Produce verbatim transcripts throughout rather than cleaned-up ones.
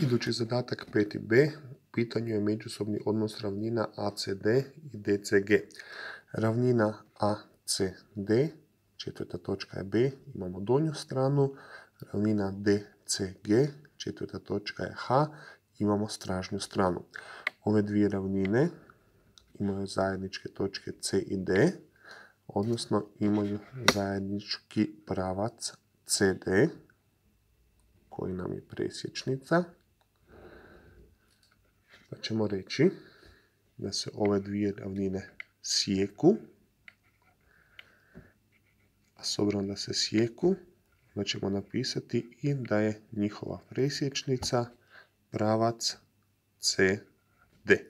Idući zadatak peti b. U pitanju je međusobni odnos ravnina A C D i D C G. Ravnina A C D, četvrta točka je B, imamo donju stranu. Ravnina D C G, četvrta točka je H, imamo stražnju stranu. Ove dvije ravnine imaju zajedničke točke C i D, odnosno imaju zajednički pravac C D, koji nam je presječnica. Pa ćemo reći da se ove dvije ravnine sjeku. A s obzirom da se sjeku, onda ćemo napisati i da je njihova presječnica pravac C D.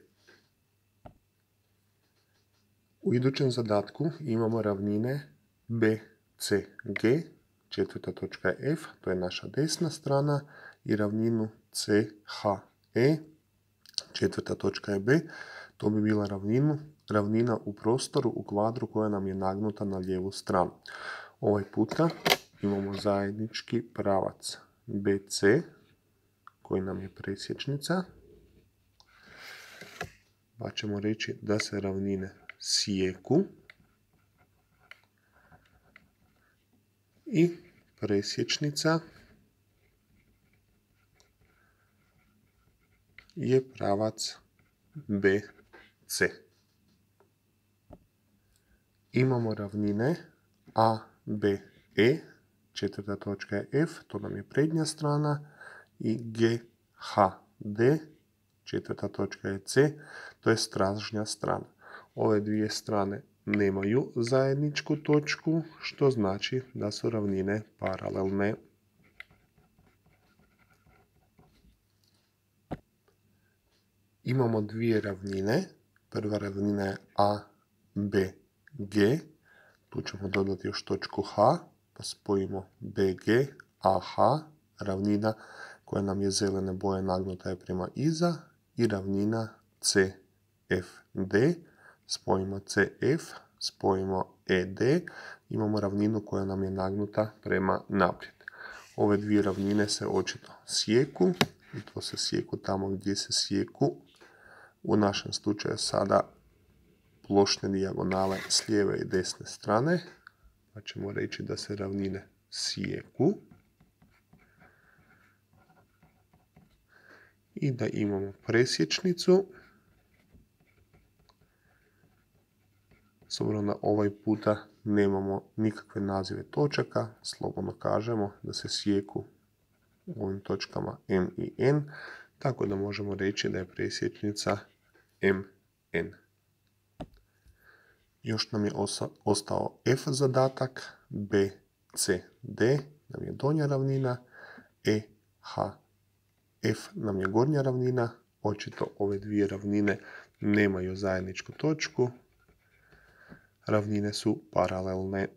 U idućem zadatku imamo ravnine B C G, četvrta točka je F, to je naša desna strana, i ravninu C H E, četvrta točka je B, to bi bila ravninu, ravnina u prostoru u kvadru koja nam je nagnuta na lijevu stranu. Ovaj puta imamo zajednički pravac B C, koji nam je presječnica, pa ćemo reći da se ravnine sjeku i presječnica je pravac B C. Imamo ravnine A B E, četvrta točka je F, to nam je prednja strana, i G H D, četvrta točka je C, to je stražnja strana. Ove dvije strane nemaju zajedničku točku, što znači da su ravnine paralelne. Imamo dvije ravnine. Prva ravnina je A B G. Tu ćemo dodati još točku H, pa spojimo B G, A H, ravnina koja nam je zelene boje nagnuta je prema iza, i ravnina C F D. Spojimo C F, spojimo E D, imamo ravninu koja nam je nagnuta prema naprijed. Ove dvije ravnine se očito sjeku, i to se sjeku tamo gdje se sjeku. U našem slučaju sada plošne dijagonale s lijeve i desne strane, pa ćemo reći da se ravnine sjeku i da imamo presječnicu. S obzirom da ovaj puta nemamo nikakve nazive točaka, slobodno kažemo da se sjeku u ovim točkama M i N, tako da možemo reći da je presječnica M N. Još nam je ostao F zadatak, B C D nam je donja ravnina, E H F nam je gornja ravnina. Očito ove dvije ravnine nemaju zajedničku točku, ravnine su paralelne.